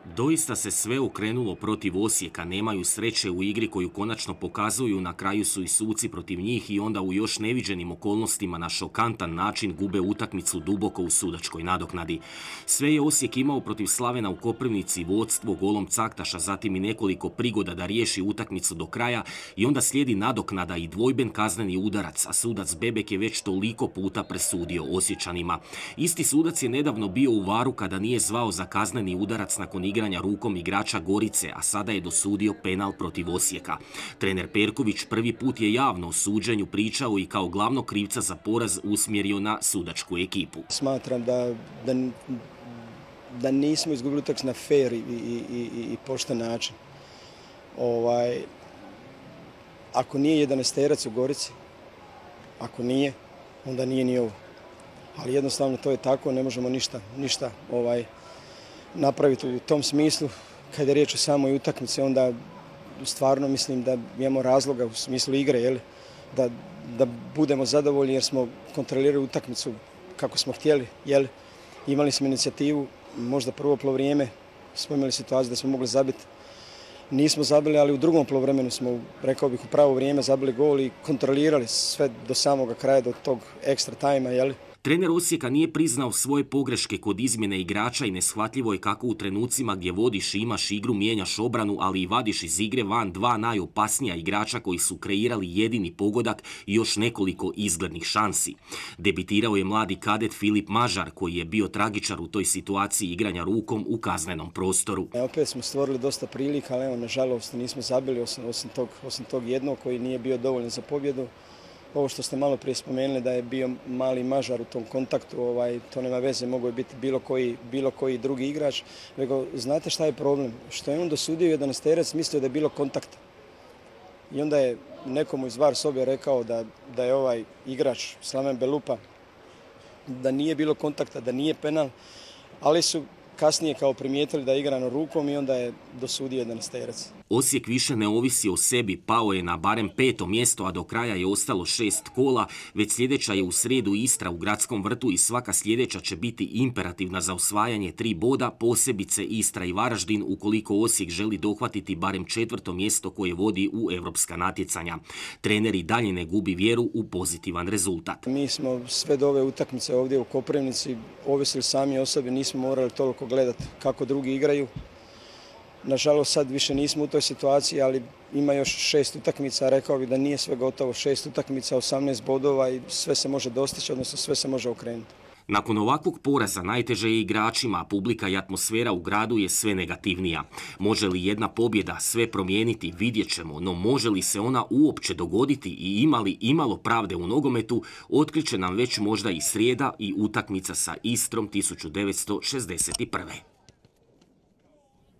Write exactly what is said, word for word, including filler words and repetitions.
Doista se sve okrenulo protiv Osijeka, nemaju sreće u igri koju konačno pokazuju, na kraju su i suci protiv njih i onda u još neviđenim okolnostima na šokantan način gube utakmicu duboko u sudačkoj nadoknadi. Sve je Osijek imao protiv Slavena u Koprivnici, vodstvo golom Caktaša, zatim i nekoliko prigoda da riješi utakmicu do kraja i onda slijedi nadoknada i dvojben kazneni udarac, a sudac Bebek je već toliko puta presudio Osječanima. Isti sudac je nedavno bio u Varu kada nije zvao za kazneni udarac nakon igranja rukom igrača Gorice, a sada je dosudio penal protiv Osijeka. Trener Perković prvi put je javno o suđenju pričao i kao glavnog krivca za poraz usmjerio na sudačku ekipu. Smatram da, da, da nismo izgubili utakmicu na fair i, i, i, i pošten način. Ovaj, ako nije jedanaesterac u Gorici, ako nije, onda nije ni ovo. Ali jednostavno to je tako, ne možemo ništa, ništa ovaj, napraviti u tom smislu. Kad je riječ o samoj utakmici, onda stvarno mislim da imamo razloga u smislu igre, jel? Da, da budemo zadovoljni jer smo kontrolirali utakmicu kako smo htjeli. Jel? Imali smo inicijativu, možda prvo polovrijeme smo imali situaciju da smo mogli zabiti. Nismo zabili, ali u drugom polovremenu smo, rekao bih, u pravo vrijeme zabili gol i kontrolirali sve do samoga kraja, do tog ekstra tajma. Jel? Trener Osijeka nije priznao svoje pogreške kod izmjene igrača i neshvatljivo je kako u trenucima gdje vodiš i imaš igru mijenjaš obranu, ali i vadiš iz igre van dva najopasnija igrača koji su kreirali jedini pogodak i još nekoliko izglednih šansi. Debitirao je mladi kadet Filip Mažar koji je bio tragičar u toj situaciji igranja rukom u kaznenom prostoru. E, opet smo stvorili dosta prilika, ali evo, nažalost nismo zabili osim, osim, tog, osim tog jednog koji nije bio dovoljan za pobjedu. Ovo što ste malo prije spomenuli da je bio mali Mažar u tom kontaktu, ovaj, to nema veze, mogo je biti bilo koji, bilo koji drugi igrač. Nego, znate šta je problem? Što je on dosudio jedanaesterac, mislio da je bilo kontakta. I onda je nekomu iz VAR sobe rekao da, da je ovaj igrač Slaven Belupa, da nije bilo kontakta, da nije penal, ali su kasnije kao primijetili da je igrano rukom i onda je dosudio jedanaesterac. Osijek više ne ovisi o sebi, pao je na barem peto mjesto, a do kraja je ostalo šest kola. Već sljedeća je u srijedu Istra u Gradskom vrtu i svaka sljedeća će biti imperativna za osvajanje tri boda, posebice Istra i Varaždin, ukoliko Osijek želi dohvatiti barem četvrto mjesto koje vodi u europska natjecanja. Trener i dalje ne gubi vjeru u pozitivan rezultat. Mi smo sve do ove utakmice ovdje u Koprivnici ovisili sami o sebi, nismo morali toliko gledati kako drugi igraju. Nažalost, sad više nismo u toj situaciji, ali ima još šest utakmica, rekao bih da nije sve gotovo. Šest utakmica, osamnaest bodova i sve se može dostići, odnosno sve se može okrenuti. Nakon ovakvog poraza najteže je igračima, a publika i atmosfera u gradu je sve negativnija. Može li jedna pobjeda sve promijeniti, vidjet ćemo, no može li se ona uopće dogoditi i ima li imalo pravde u nogometu, otkriće nam već možda i srijeda i utakmica sa Istrom tisuću devetsto šezdeset prve.